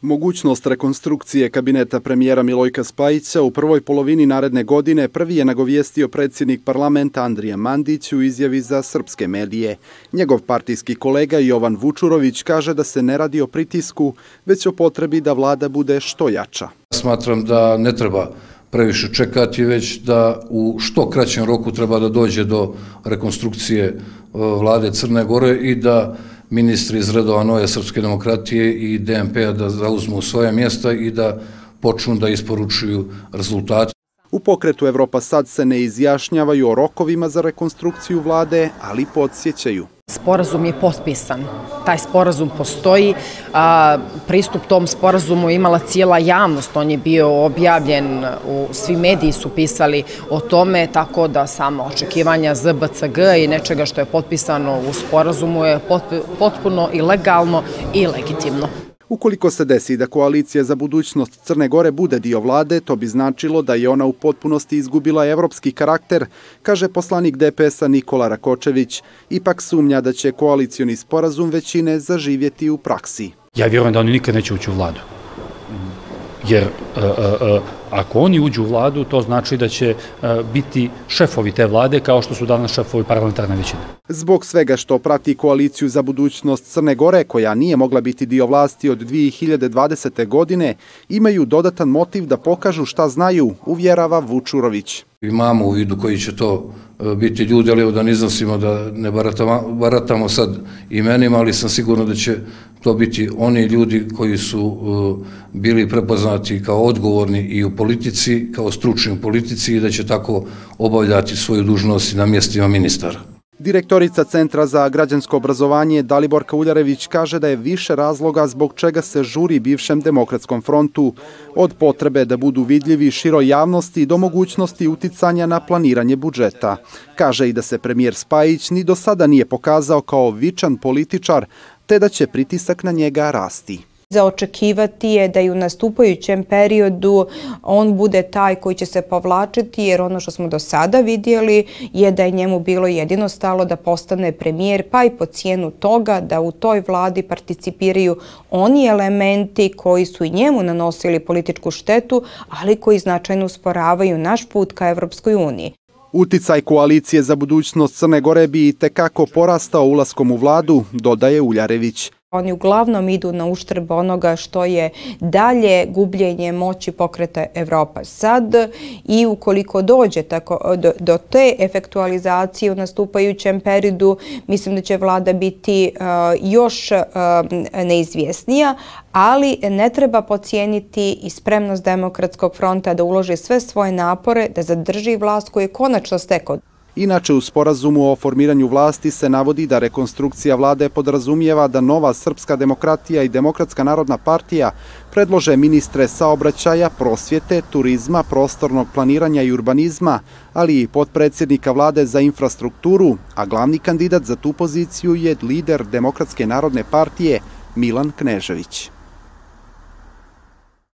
Mogućnost rekonstrukcije kabineta premijera Milojka Spajića u prvoj polovini naredne godine prvi je nagovijestio predsjednik parlamenta Andrija Mandić u izjavi za srpske medije. Njegov partijski kolega Jovan Vučurović kaže da se ne radi o pritisku, već o potrebi da vlada bude što jača. Smatram da ne treba previše čekati, već da u što kraćem roku treba da dođe do rekonstrukcije vlade Crne Gore i da ministri iz redova Nove srpske demokratije i DNP-a da zauzmu svoje mjesta i da počnu da isporučuju rezultate. U pokretu Evropa sad se ne izjašnjavaju o rokovima za rekonstrukciju vlade, ali podsjećaju. Sporazum je potpisan, taj sporazum postoji, pristup tom sporazumu imala cijela javnost, on je bio objavljen, svi mediji su pisali o tome, tako da samo očekivanja ZBCG i nečega što je potpisano u sporazumu je potpuno i legalno i legitimno. Ukoliko se desi da koalicija za budućnost Crne Gore bude dio vlade, to bi značilo da je ona u potpunosti izgubila evropski karakter, kaže poslanik DPS-a Nikola Rakočević. Ipak sumnja da će koalicioni sporazum većine zaživjeti u praksi. Ja vjerujem da oni nikad neće ući u vladu. Jer ako oni uđu u vladu, to znači da će biti šefovi te vlade kao što su danas šefovi parlamentarne većine. Zbog svega što prati koaliciju za budućnost Crne Gore, koja nije mogla biti dio vlasti od 2020. godine, imaju dodatan motiv da pokažu šta znaju, uvjerava Vučurović. Imamo u vidu koji će to biti ljudi, ali da ne iznosimo, da ne baratamo sad imenima, ali sam sigurno da će to biti oni ljudi koji su bili prepoznati kao odgovorni i u politici, kao stručni u politici i da će tako obavljati svoju dužnost i na mjestima ministara. Direktorica Centra za građansko obrazovanje Daliborka Uljarević kaže da je više razloga zbog čega se žuri bivšem Demokratskom frontu, od potrebe da budu vidljivi široj javnosti do mogućnosti uticanja na planiranje budžeta. Kaže i da se premijer Spajić ni do sada nije pokazao kao vičan političar, te da će pritisak na njega rasti. Za očekivati je da i u nastupajućem periodu on bude taj koji će se povlačiti, jer ono što smo do sada vidjeli je da je njemu bilo jedino stalo da postane premijer, pa i po cijenu toga da u toj vladi participiraju oni elementi koji su i njemu nanosili političku štetu, ali koji značajno usporavaju naš put ka Evropskoj uniji. Uticaj koalicije za budućnost Crne Gore bi itekako porastao ulaskom u vladu, dodaje Uljarević. Oni uglavnom idu na uštrb onoga što je dalje gubljenje moći pokreta Evropa sad i ukoliko dođe do te efektualizacije u nastupajućem periodu, mislim da će vlada biti još neizvjesnija, ali ne treba podcijeniti i spremnost Demokratskog fronta da uloži sve svoje napore da zadrži vlast koju je konačno stekao. Inače, u sporazumu o formiranju vlasti se navodi da rekonstrukcija vlade podrazumijeva da Nova srpska demokratija i Demokratska narodna partija predlože ministre saobraćaja, prosvjete, turizma, prostornog planiranja i urbanizma, ali i potpredsjednika vlade za infrastrukturu, a glavni kandidat za tu poziciju je lider Demokratske narodne partije Milan Knežević.